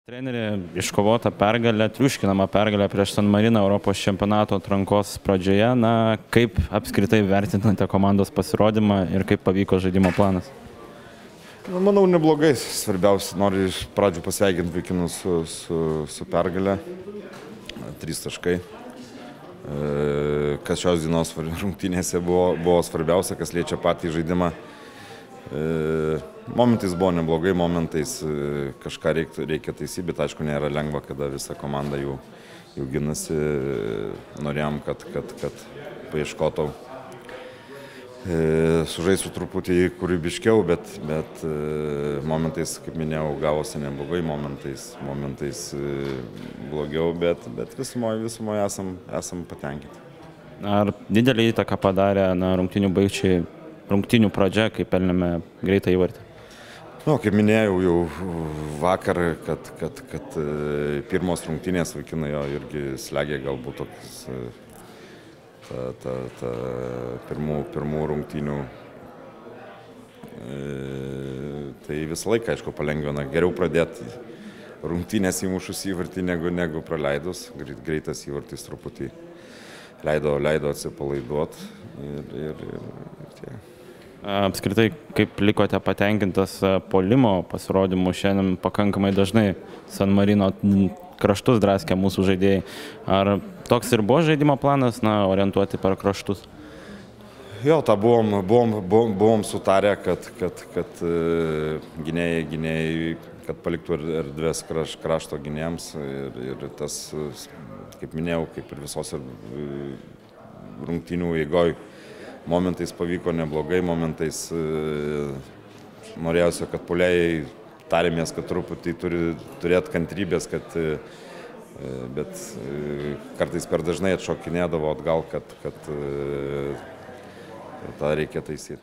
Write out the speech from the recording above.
Trenerė iškovota pergalė, triuškinama pergalė prieš San Mariną Europos čempionato atrankos pradžioje. Na, kaip apskritai vertinate komandos pasirodymą ir kaip pavyko žaidimo planas? Manau, neblogai. Svarbiausia, noriu iš pradžių pasveikinti vaikinus su pergalė. 3 taškai. Kas šios dienos rungtynėse buvo svarbiausia, kas liečia patį žaidimą. Momentais buvo neblogai, momentais kažką reikia taisyti, bet aišku nėra lengva, kada visa komanda jau ginasi. Norėjom, kad paieškotų sužaistų truputį kūrybiškiau, bet momentais, kaip minėjau, gavosi neblogai, momentais blogiau, bet visumoje esam patenkinti. Ar didelį įtaką padarė rungtynių baigčiai? Rungtynių pradžia, kai pelnėme greitą įvartį. Kaip minėjau jau vakar, kad pirmos rungtynės vaikinai jo irgi slėgė galbūt toks pirmų rungtynių. Tai visą laiką, aišku, palengvina. Geriau pradėti rungtynės įmušus įvartį negu praleidus. Greitas įvartis truputį leido atsipalaiduoti ir tiek. Apskritai, kaip likote patenkintas puolimo pasirodymu? Šiandien pakankamai dažnai San Marino kraštus draskė mūsų žaidėjai. Ar toks ir buvo žaidimo planas, orientuoti per kraštus? Jo, tą buvom sutarę, kad gynėjai, kad paliktų erdvės krašto gynėjams. Ir tas, kaip minėjau, kaip ir visos rungtynių eigoj, momentais pavyko neblogai, momentais norėjausi, kad puolėjai tarėmės, kad truputį turi turėti kantrybės, bet kartais per dažnai atšokinėdavo atgal, kad tą reikia taisyti.